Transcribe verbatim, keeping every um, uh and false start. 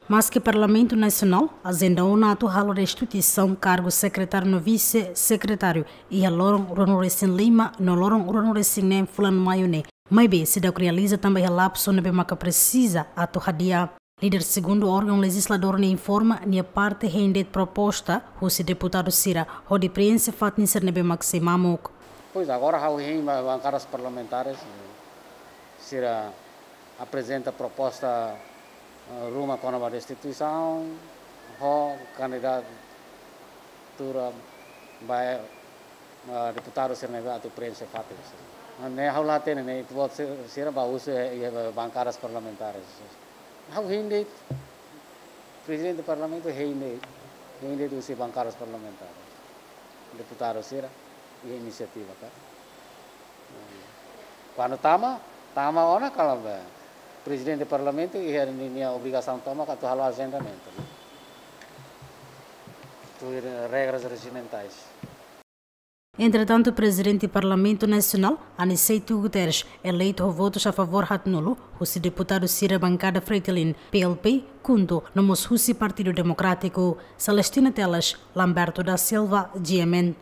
Maske Parlamentu Nasionál ajenda ona atu halo restituisaun kargu sekretáriu no vise-sekretáriu iha loron ruanulu-resin-lima no loron ruanulu-resin-neen fulan Maiu ne'e, maibé seidauk realiza tanba iha lapsu ne'ebé maka presiza atu hadi'a. Líder segundu órgaun lejizladór ne'e informa nia parte hein de'it proposta husi deputadu sira hodi preenxe fatin sira ne'ebé mak sei mamuk. Pois agora ha'u hein ba bankadas parlamentares, eh, sira aprezenta proposta, eh, ruma kona-ba restituisaun, ho kandidatura ba, eh, deputadu sira ne'ebé atu preenxe fatin sira. Ne'e ha'u la hatene ne'e ita-boot sira, sira bá husu iha, iha bankadas parlamentares. Ha'u hein de'it, prezidente parlamentu hein de'it, hein de'it husi bankadas parlamentares. Deputadu sira, iha inisiativa ka. Kuandu tama, tama ona kalan ba prezidente parlamentu iha ninia obrigasaun tomak atu halo ajendamentu, tuir regras rejimentais. Entretantu, Prezidente Parlamentu Nasionál, Aniceto Guterres, eleitu ho votus a favór haatnulu, husi deputadu sira bankada Fretilin, P L P, KHUNTO, no mós husi Partidu Demokrátiku. Celestina Teles, Lamberto da Silva, G M N.